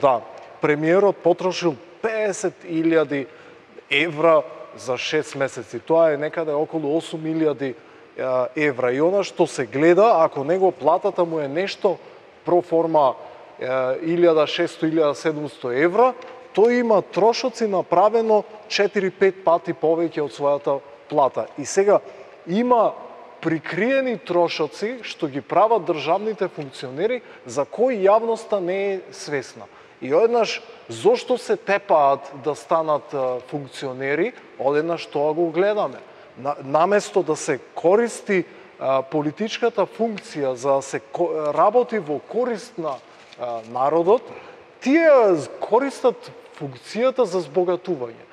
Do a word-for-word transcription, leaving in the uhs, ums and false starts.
Да, премиерот потрошил песет илјади евра за шест месеци. Тоа е некаде околу осум илјади евра. И она што се гледа, ако него платата му е нешто проформа илјада и шесто - илјада и седумсто евра, тој има трошоци направено четири-пет пати повеќе од својата плата. И сега има прикриени трошоци што ги прават државните функционери за кои јавноста не е свесна. И одеднаш, зошто се тепаат да станат функционери, одеднаш тоа го гледаме. Наместо да се користи политичката функција за да се работи во корист на народот, тие користат функцијата за збогатување.